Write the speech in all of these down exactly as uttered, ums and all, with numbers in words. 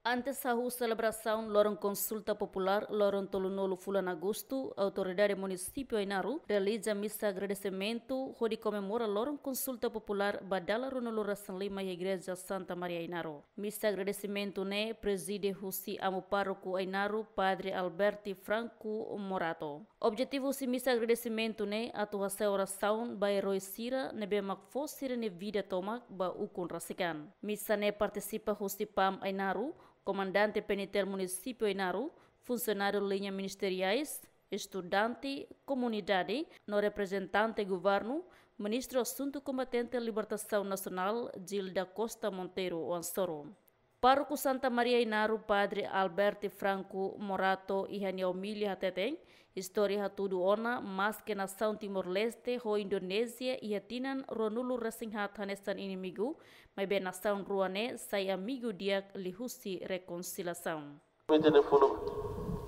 Antes hahú selebrasaun loron konsulta populár loron tolunulu fulan Agostu, Autoridade Munisípiu Ainaro realiza misa agradesimentu hodi komemora loron konsulta populár ba dala ruanulu-resin-lima iha Igreja Santa Maria Ainaro. Misa agradesimentu ne'e prezide husi Amu Pároku Ainaro, Padre Alberti Franco Morato. Objetivu husi misa agradesimentu ne'e atu hasa'e orasaun ba erói sira ne'ebé mak fó sira-nia vida tomak ba ukun rasik an. Misa ne'e partisipa husi PAM Ainaro, Komandante PNTL Munisípiu Ainaro, funsionáriu liña ministeriais, estudante, komunidade, no reprezentante governu, Ministru Asuntu Kombatente Libertasaun Nasionál, Gil da Costa Monteiro Oan-Soru. Pároku Santa Maria Ainaro, Padre Alberti Franco Morato, iha nia omilia hateten, istória hatudu ona, maske nasaun Timor-Leste ho Indonézia iha tinan ruanulu-resin-haat hanesan inimigu, maibé nasaun rua ne'e sai amigu di'ak liuhusi rekonsiliasaun. Ita-nia funu,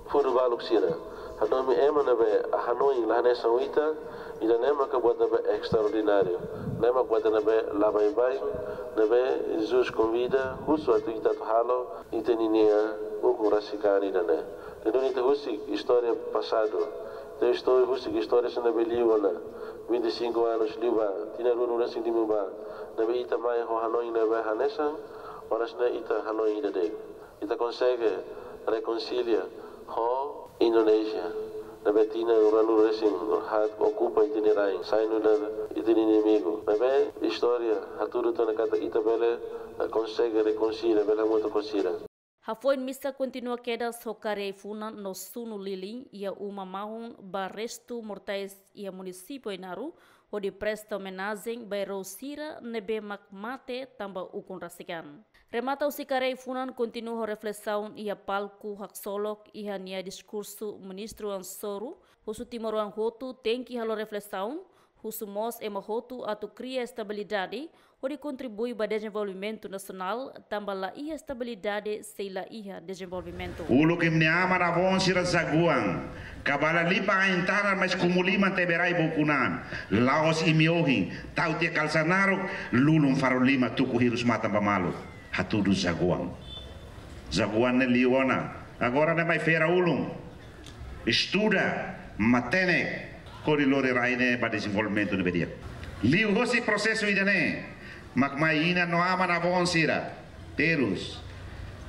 funu baluk sira. Hanomi ema ne'ebé hanoin la hanesan ita, ida-ne'e maka buat ne'ebé estraordináriu. Ne'e mak buat ne'ebé la baibain, ne'ebé Jesus konvida, husu atu ita atu halo, ita ninia ukun rasik an ida-ne'e. Entaun ita husik istória pasadu. Ita istória husik istória sira ne'ebé liu ona. Vinte e cinco anos liubá, tinan ruanulu-resin-lima bá. Ne'ebé ita mai ho hanoin ne'ebé hanesan, oras ne'e ita hanoin ida de'it. Ita konsege rekonsilia ho Indonézia. Ne'ebé tinan ruanulu-resin-haat okupa ita-nia rain, sai nu'udar ita-nia inimigu. Ne'ebé istória hatudu tiha ona katak ita bele, eh, konsege rekonsilia, bele hamutuk ho sira. Hafoin misa kontinua kedas ho karik ai-funan no sunu lilin iha uma mahon ba restu mortais iha Munisípiu Ainaro, hodi presta omenajen ba erói sira ne'ebé mak mate tanba ukun rasik an. Remata husi karik ai-funan kontinua ho reflesaun iha palku haksolok iha nia diskursu Ministru Oan-Soru, husu timoroan hotu tenke halo reflesaun, husu mós ema hotu atu kria estabilidade, hodi kontribui ba dezenvolvimentu nasionál, tanba la iha estabilidade se la iha dezenvolvimentu. Uluk imi-nia aman-avó sira zaguan, ka bala liman ain-tanan, mas kumu liman tebe rai ba ukun an. La'ós imi ohin, tau tiha kalsa naruk, lulun faru lima tuku hirus matan ba malu. Hatudu zaguan. Zaguan ne'e liu ona. Agora ne'e mai fera ulun. Estuda, matenek, hodi lori rai ne'e ba dezenvolvimentu ne'ebé di'ak. Liuhosi prosesu ida-ne'e, mak mai inan no aman-avó sira, terus,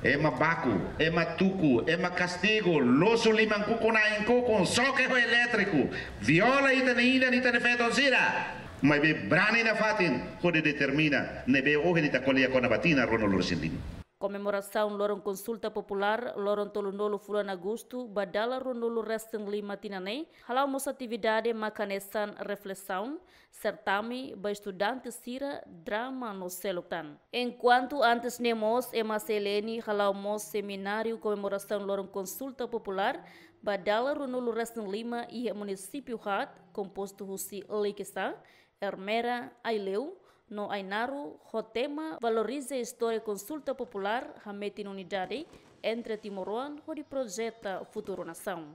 ema baku, ema tuku, ema kastigu, losu liman kukun, ain kukun, xoke ho elétriku, viola ita-nia inan, ita-nia feton sira, maibé brani nafatin hodi determina ne'ebé ohin ita ko'alia kona-ba tinan ruanulu-resin-lima. Komemorasaun loron konsulta populár loron tolunulu fulan Agostu ba dala ruanulu-resin-lima tinan ne'e hala'o mós atividade mak hanesan reflesaun, sertami ba estudante sira, drama no seluk tan. Enkuantu antes ne'e mós ema CLN hala'o mós semináriu komemorasaun loron konsulta populár ba dala ruanulu-resin-lima iha munisípiu haat, kompostu husi Likisá, Ermera, Aileu no Ainaro, ho tema valoriza istória konsulta populár, hametin unidade entre timoroan hodi projeta futuru nasaun.